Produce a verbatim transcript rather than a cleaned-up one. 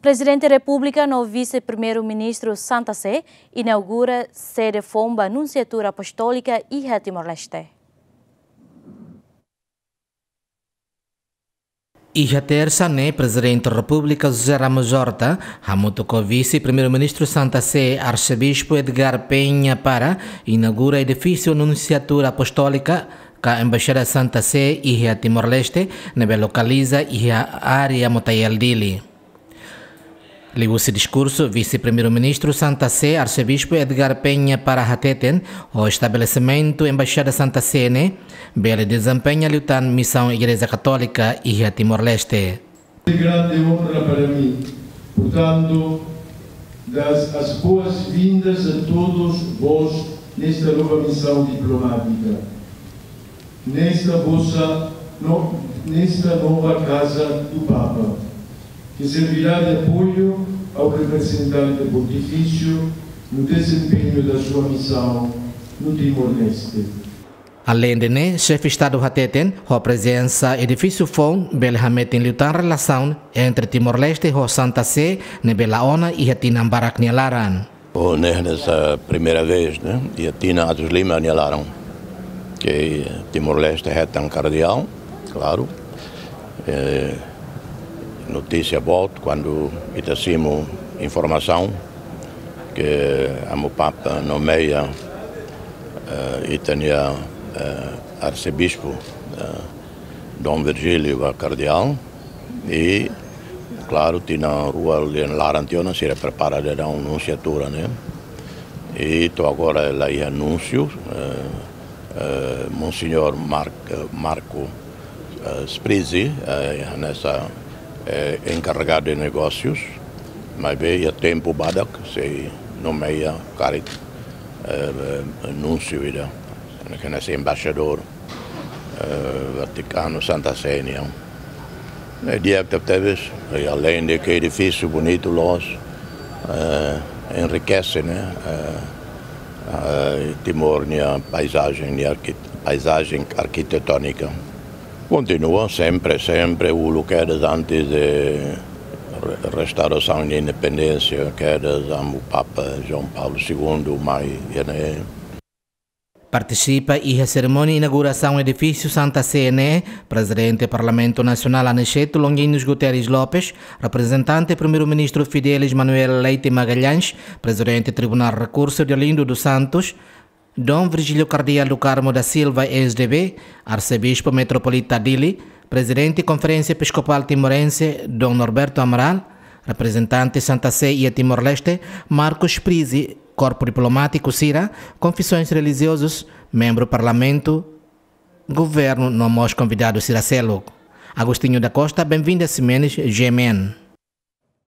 Prezidente Repúblika no Vise-Primeiru-Ministru Santa Sé inaugura sede foun ba Nunsiatura Apostólika iha Timor-Leste. Iha tersa ne'e, Prezidente Repúblika José Ramos Horta hamutuk ho Vise-Primeiru-Ministru Santa Sé, Arsebispu Edgar Peña Pará, inaugura edifísiu Nunsiatura Apostólika ka Embaixada Santa Sé iha Timor-Leste, ne'ebé lokaliza iha área Motael, Dili. Liuhusi diskursu, Vise-Primeiru-Ministru Santa Sé, Arsebispu Edgar Peña Pará hateten, ho estabelesimentu Embaixada Santa Sé ne'e bele dezempeña liután misaun Igreja Katólika iha Timor-Leste. É grande honra para mim, portanto, dar as boas-vindas a todos vós nesta nova missão diplomática, nesta vossa no-, nesta nova casa do Papa, que servirá de apoio ao representante pontifício no desempenho da sua missão no Timor-Leste. Aleinde ne'e, Xefe Estadu hateten, ho prezensa edifísiu foun bele hametin liután relasaun entre Timor-Leste ho Santa Sé ne'ebé la ona iha tinan barak nia laran. Ne'e hanesan primeira vez, ne'e, iha tinan atus lima nia laran, ke Timor-Leste hetan kardeál, klaru. Eh, notísia boot kuandu ita simu informasaun ke Amu Papa nomeia, eh, ita-nia, eh, arsebispu, eh, Dom Virgílio ba kardeál. I, klaru, tinan rua nia laran tiha ona sira prepara daudaun Nunsiatura ne'e. I to'o agora la iha núnsiu, eh, eh, Monsenhor Mar-, eh, Marco, eh, Sprizzi, eh, hanesan, eh, encarregado de negócios, maibé iha tempu badak sei nomeia karik, eh, eh, núnsiu ida, hanesan embaixadór, eh, Vatikanu Santa Sé nian. Ne'e di'ak tebetebes, i aleinde ke edifísiu bonitu loos, eh, enrikese, ne'e, eh, eh, Timor nia paizajen, nia arki-, paizajen arkitetónika. Kontinua sempre, sempre uluk kedas antes de re-, restaurasaun de independénsia, kedas Amu Papa João Paulo Segundo mai iha ne'e. Partisipa iha serimónia inaugurasaun edifísiu Santa Sé ne'e, Prezidente Parlamentu Nasionál Aniceto Longuinhos Guterres Lopes, reprezentante Primeiru-Ministru Fidelis Manuel Leite Magalhães, Prezidente Tribunál Rekursu Deolindo dos Santos, Dom Virgílio Kardeál do Carmo da Silva, S D B, Arsebispu Metropolita Dili, Prezidente Konferénsia Episkopál Timorense, Dom Norberto Amaral, reprezentante Santa Sé iha Timor-Leste, Marco Sprizzi, korpu diplomátiku sira, konfesoens relijiozus, membru Parlamentu, governu no mós konvidadu sira seluk. Agostinho da Costa, Benvinda Ximenes, G M N.